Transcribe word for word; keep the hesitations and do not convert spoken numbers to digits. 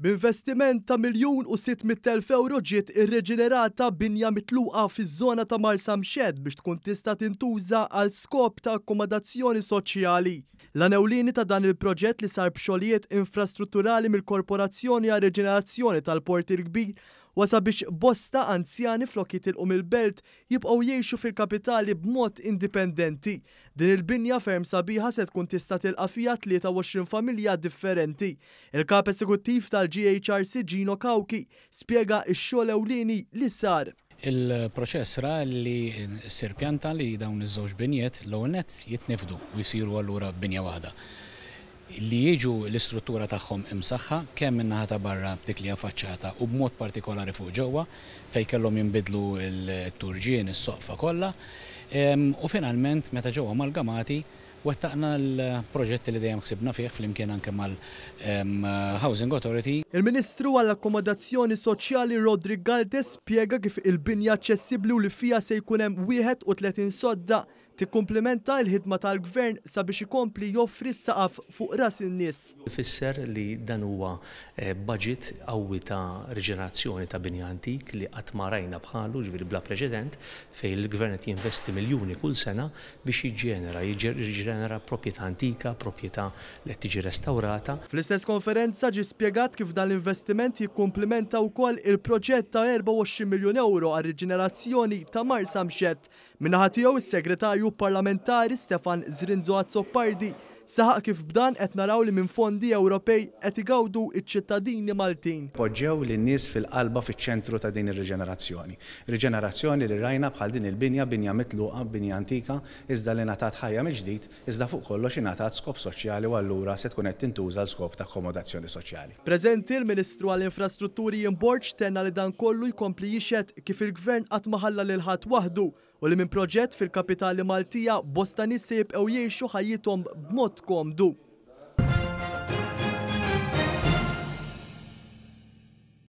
B'investiment ta' miljun u sitt mitt elf euro ġiet irreġenerata binja mitluqa fiż-żona ta' Marsamxett biex tkun tista' tintuża għal skop ta' akkomodazzjoni soċjali. L-għan ewlieni ta' dan il-proġett li sar b'xogħlijiet infrastrutturali mill-Korporazzjoni għal Reġenerazzjoni tal-Port il-Kbir wasa biex bosta anzjani flok jitilqu mill-belt jibqgħu jgħixu fil-kapitali b'mod indipendenti. Din il-binja ferm sabiħa se tkun tista' tilqa' fiha tlieta u għoxrin familja differenti. Il-kap eżekuttiv tal-G H R C Gino Cauchi spjega x-xogħol ewlieni li sar. Il-proċess ra li ssir pjanta li dawn iż-żewġ binjiet l-ewwel nett jitnifdu u jsiru allura binja waħda. Li jiġu l-istruttura tagħhom imsaħħa kemm min-naħa ta' barra f'dik li hija faċċata u b'mod partikolari fuq ġewwa fejn kellhom jinbidlu l-turġien, is-soqfa kollha. Em, u finalment meta ġew amalgamati wettaqna l-proġetti li dejjem ħsibna fih flimkien anke mal, em, Housing Authority. Il-Ministru għall-Akkomodazzjoni Soċjali Roderick Galdes spjega kif il-binja aċċessibbli u li fiha se jkun hemm wieħed u tletin sodda tikkumplimenta l-ħidma tal-Gvern sabiex ikompli joffri s-saqaf fuq ras in-nies. Ifisser li dan huwa, eh, budget qawwi ta' riġenerazzjoni ta' binja antik li qatt ma rajna bħalu, ġifieri bla preċedent, fejn il-Gvern qed jinvesti miljuni kull sena biex jiġġenera, jiġġenera proprjetà antika, proprjetà li qed tiġi restawrata. Fl-istess konferenza ġie spjegat kif dan l-investiment jikkumplimenta wkoll il-proġett ta' erbgħa u għoxrin miljun euro għar-riġenerazzjoni ta' Marsamxett. Min-naħa tiegħu is-Segretarju Parlamentari Stefan Zrinzo Azzopardi saħaq kif b'dan qed naraw li minn fondi Ewropej qed igawdu iċ-ċittadini Maltin. Poġġew lin-nies fil-qalba fiċ-ċentru ta' din ir-riġenerazzjoni. Riġenerazzjoni li rajna bħal din il-binja, binja mitluqa, binja antika, iżda li ngħatat ħajja mill-ġdid, iżda fuq kollox ingħatat skop soċjali u allura se tkun qed tintuża l skop ta' akkomodazzjoni soċjali. Preżenti l-Ministru għall-Infrastrutturi Ian Borg tenna li dan kollu jkompli jixhed kif il-Gvern qatt ma ħalla lil ħadd waħdu u li minn proġett fil-kapitali Maltija bosta nies se jibqgħu jgħixu ħajjithom b'mod komdu.